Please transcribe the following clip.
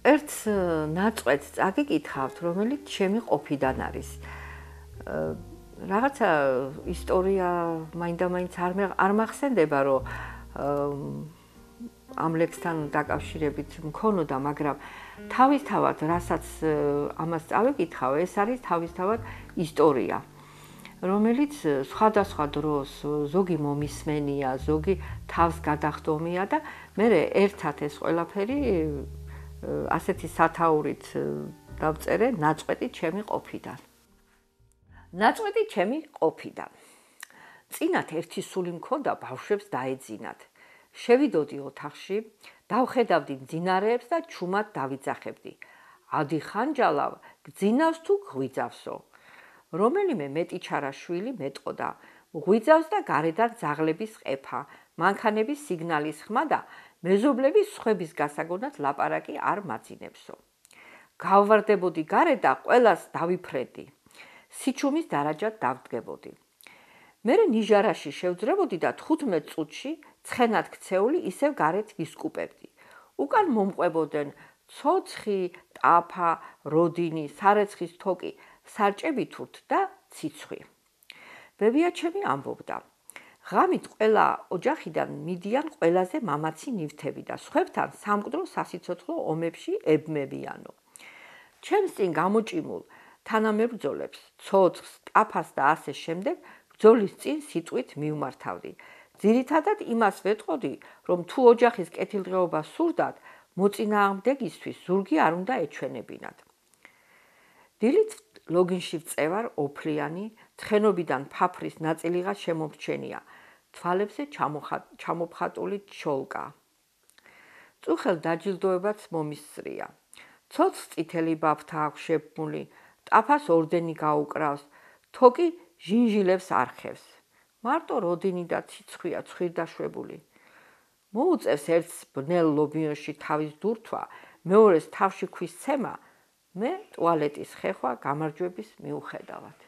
ერთ ნაწყვეტს წაგიკითხავთ, რომელიც ჩემი ყოფიდან არის. Რაღაცა ისტორია მაინდა-მაინც არ მახსენდება, რომ ამ ლექსთან დაკავშირებით მქონოდა, მაგრამ თავისთავად, რასაც ამას წავიკითხავ, ეს არის თავისთავად ისტორია, რომელიც სხვადასხვა დროს ზოგი მომისმენია, ზოგი თავს გადახდომია და მე ერთად ეს ყველაფერი ასეთი სათაურით დავწერე ნაწყვეტი ჩემი ყოფიდან. ნაწყვეტი ჩემი ყოფიდან. წინათ ერთი სული მქონდა, ბავშვებს დაეძინათ. შევიდოდი ოთახში, დავხედავდი მძინარეებს და ჩუმად დავიძახებდი. ადიხანჯალავ, გძინავს თუ ღვიძავსო. რომელიმე მეტიჩარა შვილი მეტყოდა, ღვიძავს და გარედან ძაღლების ყეფა, მანქანების სიგნალის ხმა და მეზობლების სხვების გასაგონად ლაპარაკი არ მაძინებსო. გავვარდებოდი გარეთ და ყველას დავიფრენდი. სიჩუმის დარაჯად დავდგებოდი. მერე ნიჟარაში შევძრებოდი და 15 წუთში ცხენად ქცეული ისევ გარეთ ვისკუპებდი. უკან მომყვებოდნენ ცოცხი, ტაფა, როდინი, სარეცხის თოკი, სარჭები თურთ და ციცხვი. ბებიაჩემი ამბობდა, ღამით ყველა ოჯახიდან მიდიან ყველაზე მამაცი ნივთები და სხვებთან სამკვდრო სასიცოცხლო ომებში ებმებიანო. ჩემს წინ გამოჭიმულ თანამებრძოლებს, ცოცხს, ტაფას და ასე შემდეგ ბრძოლის წინ სიტყვით მივმართავდი. ძირითადად იმას ვეტყოდი, რომ თუ ოჯახის კეთილდღეობა სურდათ, მოწინააღმდეგისთვის ზურგი არ უნდა ეჩვენებინათ. დილით ლოგინში ვწევარ ოფლიანი, ცხენობიდან ფაფრის ნაწილიღაც შემომრჩენია, თვალებზე ჩამოფხატული ჩოლკა. წუხელ დაჯილდოებაც მომისწრია. ცოცხს წითელი ბაფთა აქვს შეբმული, ტაფას ორდენი გაუკრავს, თოკი ჟინჟილებს არხევს. მარტო როდინი და ციცხვია ცხვირდაშვებული. მოუწევს ერთს ბნელ ლობიოში თავის დურთვა, მეორეს თავში ქვის ცემა, მე ტუალეტის ხეხვა გამარჯვების მიუხედავად.